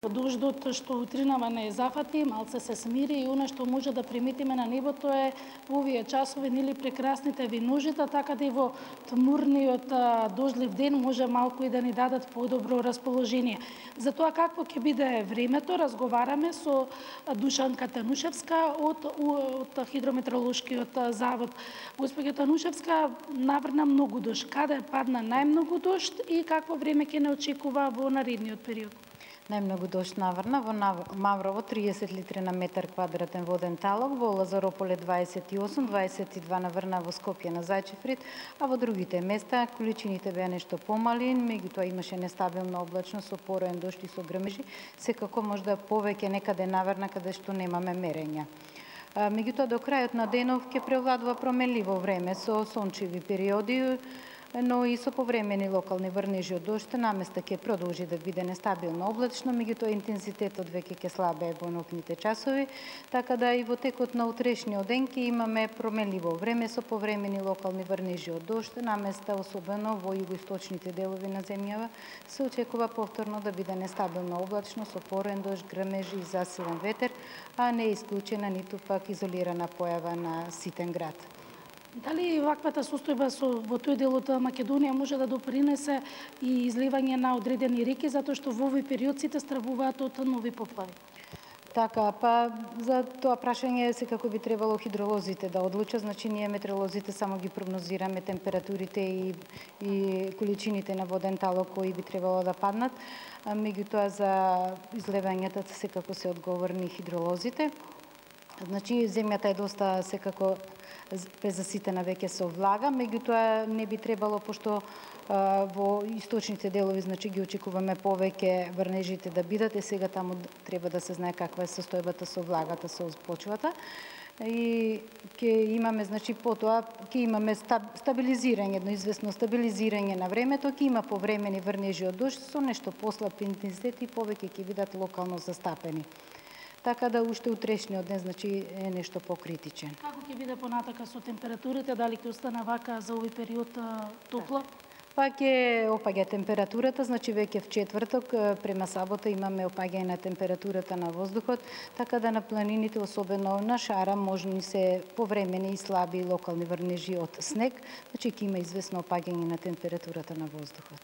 Дождот што утринава не зафати, малце се смири и она што може да приметиме на небото е во овие часови нели прекрасните виножита, така да и во тмурниот дождлив ден може малку и да ни дадат подобро расположение. За тоа какво ќе биде времето, разговараме со Душанка Танушевска од Хидрометеоролошкиот завод. Госпоѓа Танушевска, наврна многу дожд. Каде падна најмногу дожд и какво време ќе не очекува во наредниот период? Најмногу дожд наврна во Маврово 30 литри на метар квадратен воден талог, во Лазарополе 28, 22 наврна во Скопје на Зајчеврид, а во другите места количините беа нешто помали, меѓутоа имаше нестабилна облачност со пороен дожд и со грмежи, секако можда повеќе некаде наврна каде што немаме мерења. Меѓутоа до крајот на денов ќе превладува променливо време со сончеви периоди, но и со повремени локални врнежи од дожд, наместа ќе продолжи да биде нестабилно облачно, меѓутоа интензитетот веќе ќе слабее во ноќните часови, така да и во текот на утрешниот ден ќе имаме променливо време со повремени локални врнежи од дожд, наместа особено во југоисточните делови на земјава се очекува повторно да биде нестабилно облачно со пороен дожд, грмежи и засилен ветер, а не е исклучена ниту пак изолирана појава на ситен град. Дали ваквата состојба во тој дел од Македонија може да допринесе и изливање на одредени реки, затоа што во овој период сите стравуваат од нови поплави? Така, па за тоа прашање секако би требало хидролозите да одлучат, значи ние метеоролозите само ги прогнозираме температурите и количините на воден талог кои би требало да паднат, меѓутоа за изливањата секако се одговорни хидролозите. Значи земјата е доста секако презаситена веќе со влага, меѓутоа не би требало, пошто во источните делови значи ги очекуваме повеќе врнежите да бидат, и сега таму треба да се знае каква е состојбата со влагата со почвата. И ќе имаме, значи потоа ќе имаме стабилизирање, едно известно стабилизирање на времето, ќе има повремени врнежи од дожд со нешто послаб интензитет и повеќе ќе бидат локално застапени. Така да уште утрешниот ден значи е нешто покритичен. Како ќе биде понатака со температурите, дали ќе остане вака за овој период топло? Па ќе опаѓа температурата, значи веќе в четврток према сабота имаме опаѓање на температурата на воздухот, така да на планините, особено на Шара, можни се повремени и слаби локални врнежи од снег, значи ќе има известно опаѓање на температурата на воздухот.